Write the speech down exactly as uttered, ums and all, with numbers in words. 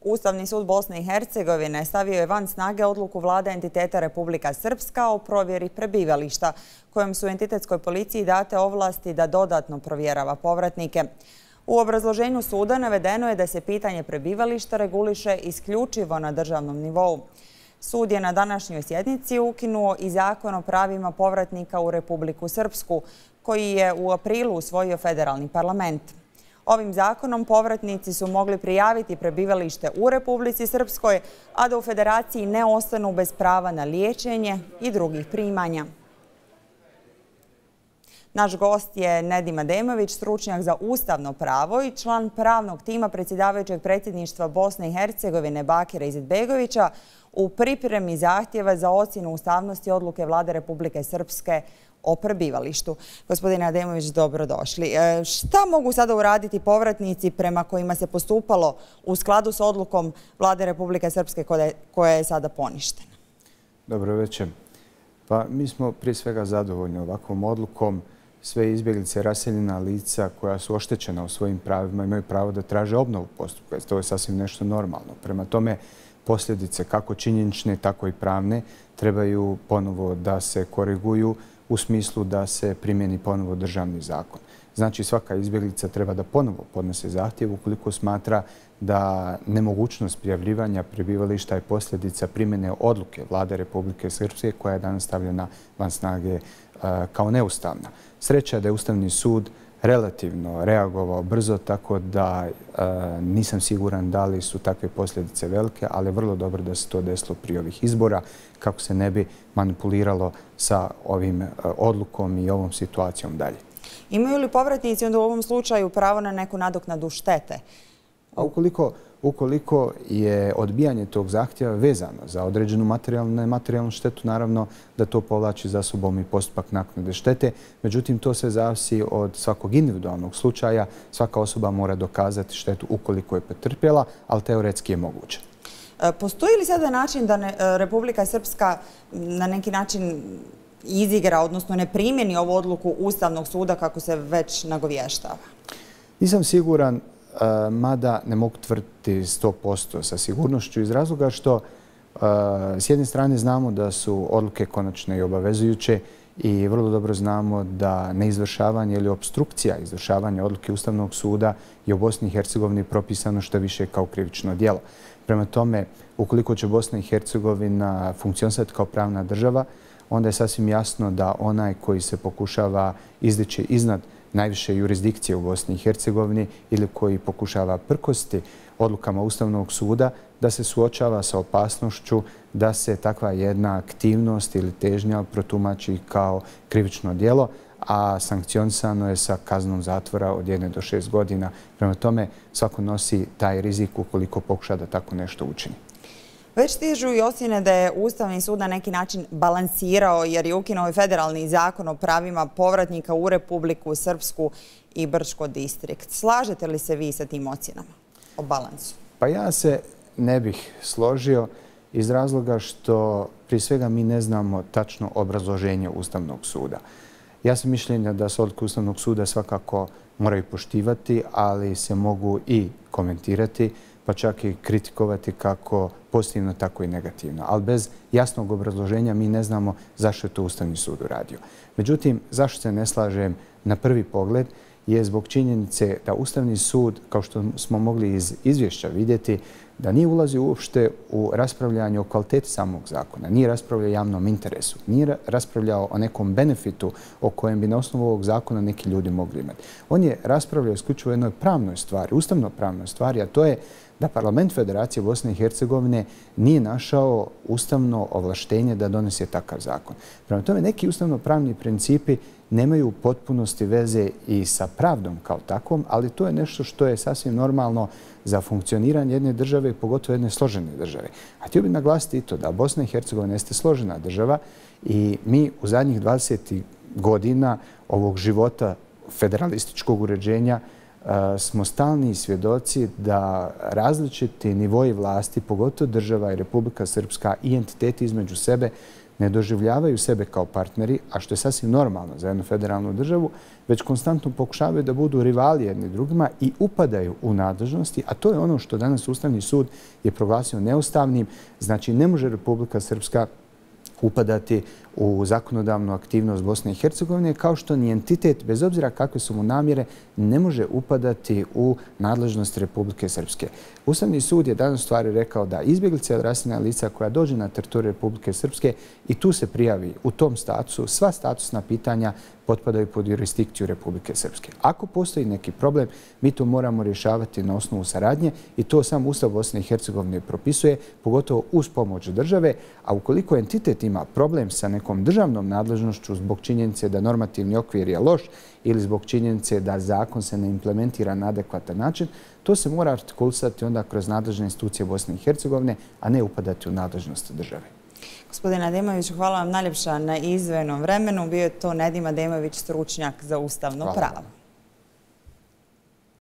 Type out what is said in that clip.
Ustavni sud Bosne i Hercegovine stavio je van snage odluku vlade entiteta Republika Srpska o provjeri prebivališta, kojom su entitetskoj policiji date ovlasti da dodatno provjerava povratnike. U obrazloženju suda navedeno je da se pitanje prebivališta reguliše isključivo na državnom nivou. Sud je na današnjoj sjednici ukinuo i Zakon o pravima povratnika u Republiku Srpsku, koji je u aprilu usvojio federalni parlament. Ovim zakonom povratnici su mogli prijaviti prebivalište u Republici Srpskoj, a da u federaciji ne ostanu bez prava na liječenje i drugih primanja. Naš gost je Nedim Ademović, stručnjak za ustavno pravo i član pravnog tima predsjedavajućeg predsjedništva Bosne i Hercegovine Bakira Izetbegovića u pripremi zahtjeva za ocjenu ustavnosti odluke vlade Republike Srpske o prebivalištu. Gospodine Ademović, dobrodošli. Šta mogu sada uraditi povratnici prema kojima se postupalo u skladu s odlukom vlade Republike Srpske koja je sada poništena? Dobro večer. Pa mi smo prije svega zadovoljni ovakvom odlukom. Sve izbjeglice, raseljena lica koja su oštećena u svojim pravima imaju pravo da traže obnovu postupka. To je sasvim nešto normalno. Prema tome, posljedice kako činjenične, tako i pravne trebaju ponovo da se koriguju u smislu da se primjeni ponovo državni zakon. Znači, svaka izbjeglica treba da ponovo podnese zahtjev ukoliko smatra da nemogućnost prijavljivanja prebivališta je posljedica primjene odluke vlade Republike Srpske koja je danas stavljena van snage kao neustavna. Sreća je da je Ustavni sud relativno reagovao brzo, tako da nisam siguran da li su takve posljedice velike, ali je vrlo dobro da se to desilo prije ovih izbora kako se ne bi manipuliralo sa ovim odlukom i ovom situacijom dalje. Imaju li povratnici onda u ovom slučaju pravo na neku nadoknadu štete? A ukoliko, ukoliko je odbijanje tog zahtjeva vezano za određenu materijalnu i nematerijalnu štetu, naravno da to povlači za sobom i postupak naknade štete. Međutim, to se zavisi od svakog individualnog slučaja. Svaka osoba mora dokazati štetu ukoliko je pretrpjela, ali teoretski je moguće. Postoji li sada način da ne, Republika Srpska na neki način izigra, odnosno ne primjeni ovu odluku Ustavnog suda kako se već nagovještava? Nisam siguran, mada ne mogu tvrditi sto posto sa sigurnošću iz razloga što s jedne strane znamo da su odluke konačne i obavezujuće i vrlo dobro znamo da neizvršavanje ili obstrukcija izvršavanja odluke Ustavnog suda je u Bosni i Hercegovini propisano što više kao krivično djelo. Prema tome, ukoliko će Bosna i Hercegovina funkcionisati kao pravna država, onda je sasvim jasno da onaj koji se pokušava izdići iznad najviše jurisdikcije u Bosni i Hercegovini ili koji pokušava prkosti odlukama Ustavnog suda, da se suočava sa opasnošću da se takva jedna aktivnost ili težnja protumači kao krivično djelo, a sankcionisano je sa kaznom zatvora od jedne do šest godina. Prema tome, svako nosi taj rizik ukoliko pokuša da tako nešto učini. Već stižu i ocjene da je Ustavni sud na neki način balansirao jer je ukinuo i federalni zakon o pravima povratnika u Republiku Srpsku i Brčko distrikt. Slažete li se vi sa tim ocjenama o balansu? Pa ja se ne bih složio iz razloga što prije svega mi ne znamo tačno obrazloženje Ustavnog suda. Ja sam mišljenja da se odluke Ustavnog suda svakako moraju poštivati, ali se mogu i komentirati, pa čak i kritikovati kako pozitivno, tako i negativno. Ali bez jasnog obrazloženja mi ne znamo zašto je to Ustavni sud uradio. Međutim, zašto se ne slažem na prvi pogled je zbog činjenice da Ustavni sud, kao što smo mogli iz izvješća vidjeti, da nije ulazio uopšte u raspravljanje o kvaliteti samog zakona, nije raspravljao o javnom interesu, nije raspravljao o nekom benefitu o kojem bi na osnovu ovog zakona neki ljudi mogli imati. On je raspravljao isključivo o jednoj pravnoj stvari, ustavno-pravnoj stvari, a to je da Parlament Federacije Bosne i Hercegovine nije našao ustavno ovlaštenje da donese takav zakon. Prema tome, neki ustavno-pravni principi nemaju u potpunosti veze i sa pravdom kao takvom, ali to je nešto što je sasvim normalno za funkcioniranje jedne države, pogotovo jedne složene države. A htio bih naglasiti i to da Bosna i Hercegovina jeste složena država i mi u zadnjih dvadeset godina ovog života federalističkog uređenja smo stalni svjedoci da različiti nivoji vlasti, pogotovo država i Republika Srpska i entiteti između sebe, ne doživljavaju sebe kao partneri, a što je sasvim normalno za jednu federalnu državu, već konstantno pokušavaju da budu rivali jedni drugima i upadaju u nadležnosti, a to je ono što danas Ustavni sud je proglasio neustavnim. Znači, ne može Republika Srpska upadati u zakonodavnu aktivnost Bosne i Hercegovine, kao što ni entitet, bez obzira kakve su mu namjere, ne može upadati u nadležnost Republike Srpske. Ustavni sud je danas u stvari rekao da izbjeglica ili raseljena lica koja dođe na teritoriju Republike Srpske i tu se prijavi u tom statusu, sva statusna pitanja potpadaju pod jurisdikciju Republike Srpske. Ako postoji neki problem, mi to moramo rješavati na osnovu saradnje i to sam Ustav Bosne i Hercegovine propisuje, pogotovo uz pomoć države, a ukoliko entitet ima problem sa nekom državnom nadležnošću zbog činjenice da normativni okvir je loš ili zbog činjenice da zakon se ne implementira na adekvatan način, to se mora artikulisati onda kroz nadležne institucije Bosne i Hercegovine, a ne upadati u nadležnost države. Gospodine Ademoviću, hvala vam najljepša na izdvojenom vremenu. Bio je to Nedim Ademović, stručnjak za ustavno pravo.